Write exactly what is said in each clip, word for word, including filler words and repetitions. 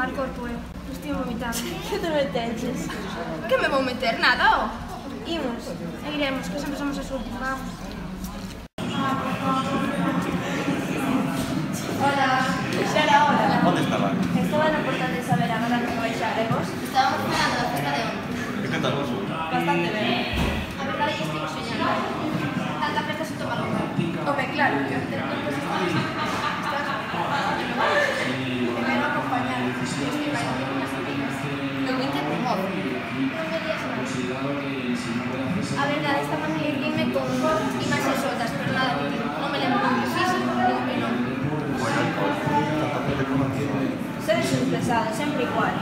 tomar corpo, eh. Estou vomitando. Que te meteches? Que me vou meter? Nada, ó. Imos, e iremos, que sempre somos as últimas. Vamos. Hola. Xa era hora. Onde estaba? Estaba no portal de saber agora que baixaremos. Estábamos esperando a festa de onde. E que tal vos? Bastante ben. A verdade é que estivo soñando. Tanta festa se toma longa. Home, claro, que onte non pues estamos... Me quero acompañar. Estive bailando con as amigas. Eu vinte por modo. Non me días máis. A verdade, esta familia irme con imaxes soltas, pero nada útil. Non me lembro con que fixo, nin que non. Tanta gente como aquí. Seres un pesado, sempre igual.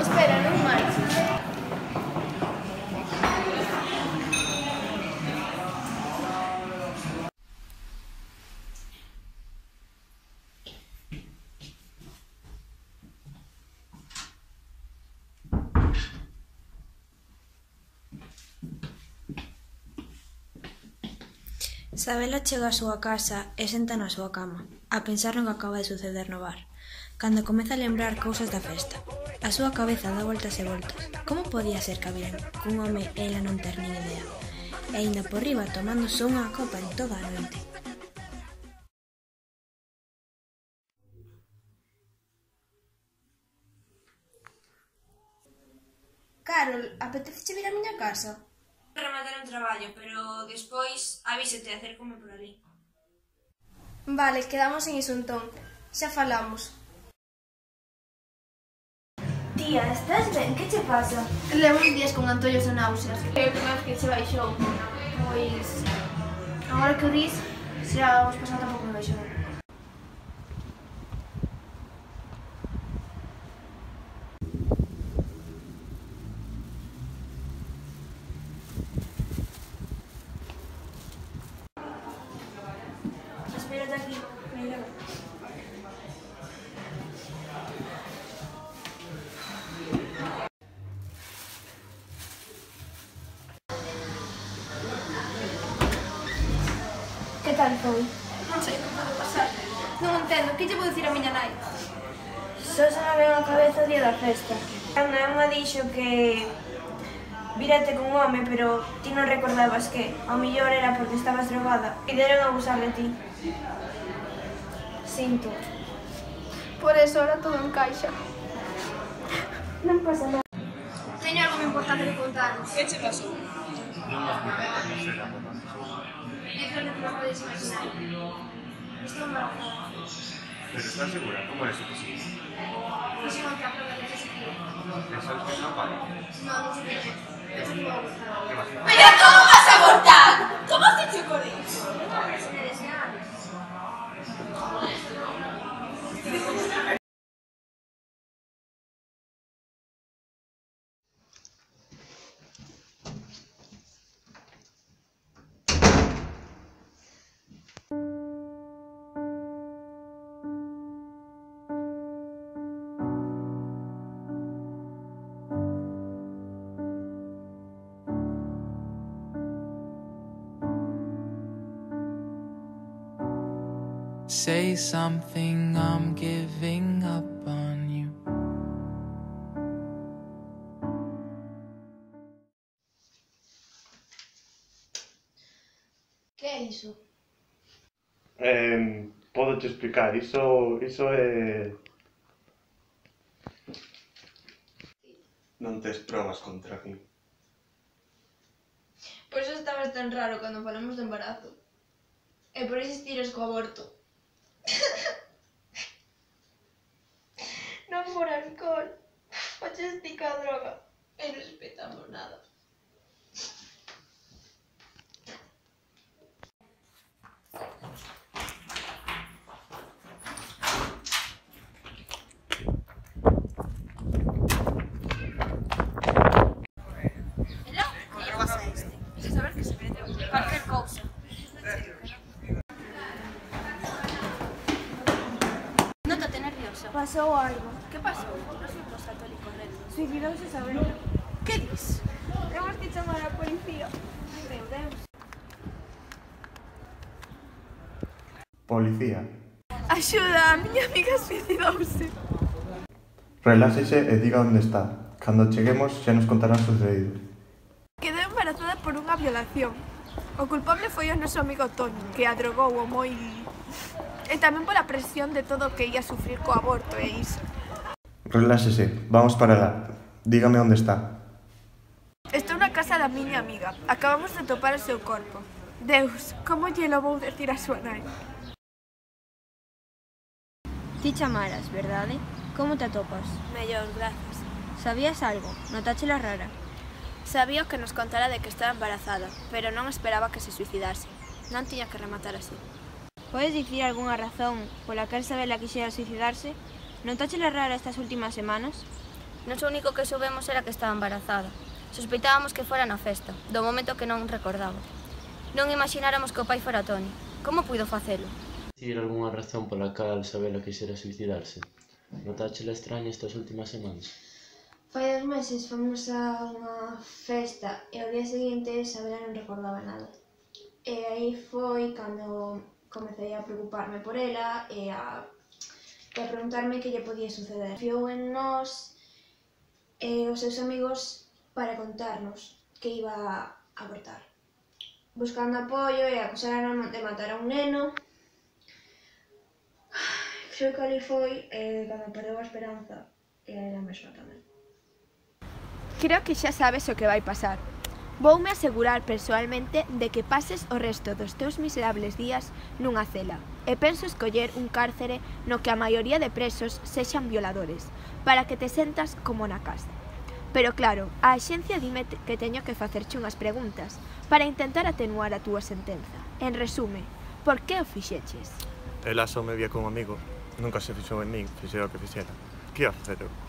Espera, non máis. Sabela chega á súa casa e senta na súa cama, a pensar no que acaba de suceder no bar, cando comeza a lembrar cousas da festa. A súa cabeza dá voltas e voltas. Como podía ser que habían cun home e ela non ter nin idea? E aínda por riba tomándose unha copa en toda a noite. Carol, apetece vir á miña casa? Rematar un traballo, pero despois avísate e acércome por ali. Vale, quedamos en iso entón. Xa falamos. Tía, estás ben? Que che pasa? Levo uns días con antollos e náuseas. É a primeira vez que se baixou. Pois... agora que o dis, xa os pasado tampouco me baixou. Espérate aquí, mellor. Que tal foi? Non sei como pode pasar. Non entendo, que lle vou dicir a miña nai? Só se me ven a cabeza o día da festa. Ana me dixo que vírate con un home, pero ti non recordabas que ao mellor era porque estabas drogada e deron a abusar de ti. Sinto. Por eso ahora todo encaixa. Non pasa nada. Teño algo moi importante que contaros. Que che pasou? É que non vos podedes imaginar. Estou embarazada. Pero estás segura? Como é eso posible? Fixen outra prova de positivo. Pensabas que non vale? Non, non sei que. Penso que vou abortar. Que vas a facer? Pero como vas a abortar? Como te che con iso? Se me desean. Say something, I'm giving up on you. Que é iso? Eh, podo te explicar, iso, iso é... Non tes probas contra mí. Por eso estabas tan raro cando falamos de embarazo. E por insistires co aborto. Non por alcohol. Faches ti ca droga. E non respetamos nada. Pasou algo. Que pasou? Nos fuimos católicos, Red. Suicidouse Sabela. Que dis? Temos que chamar a policía. Meu Deus. Policía. Axuda, a miña amiga suicidouse. Reláxese e diga onde está. Cando cheguemos xa nos contarán o sucedido. Quedou embarazada por unha violación. O culpable foi o noso amigo Toni, que a drogou o moi... E tamén pola presión de todo o que ia sufrir co aborto e iso. Reláxese, vamos para lá. Dígame onde está. Estou na casa da miña amiga. Acabamos de topar o seu corpo. Deus, como lle lo vou decir a súa nai? Ti chamaras, verdade? Como te atopas? Mellor, grazas. Sabías algo? Notáchela rara? Sabía que nos contara de que estaba embarazada, pero non esperaba que se suicidase. Non tiña que rematar así. Podes dicir algunha razón pola que Sabela quixera suicidarse? Notáchela rara estas últimas semanas? Non o único que soubemos era que estaba embarazada. Sospeitábamos que fora na festa, do momento que non recordaba. Non imagináramos que o pai fora Toni. Como puido facelo? Dicir algunha razón pola cal Sabela quixera suicidarse? Notáchela extraña estas últimas semanas? Fai dos meses fomos a unha festa e ao día seguinte Sabela non recordaba nada. E aí foi cando comecei a preocuparme por ela e a, e a preguntarme que lle podía suceder. Fiou en nós e os seus amigos para contarnos que iba a abortar. Buscando apoio e acusaron de matar a un neno. Creo que ali foi eh, cando perdeu a esperanza e ela mesma tamén. Creo que xa sabes o que vai pasar. Voume asegurar persoalmente de que pases o resto dos teus miserables días nunha cela e penso escoller un cárcere no que a maioría de presos sexan violadores para que te sentas como na casa. Pero claro, a axencia dime que teño que facerche unhas preguntas para intentar atenuar a túa sentenza. En resume, por que o fixeches? Ela só me vía como amigo. Nunca se fixou en min, fixera o que fixera. Que ia facer eu?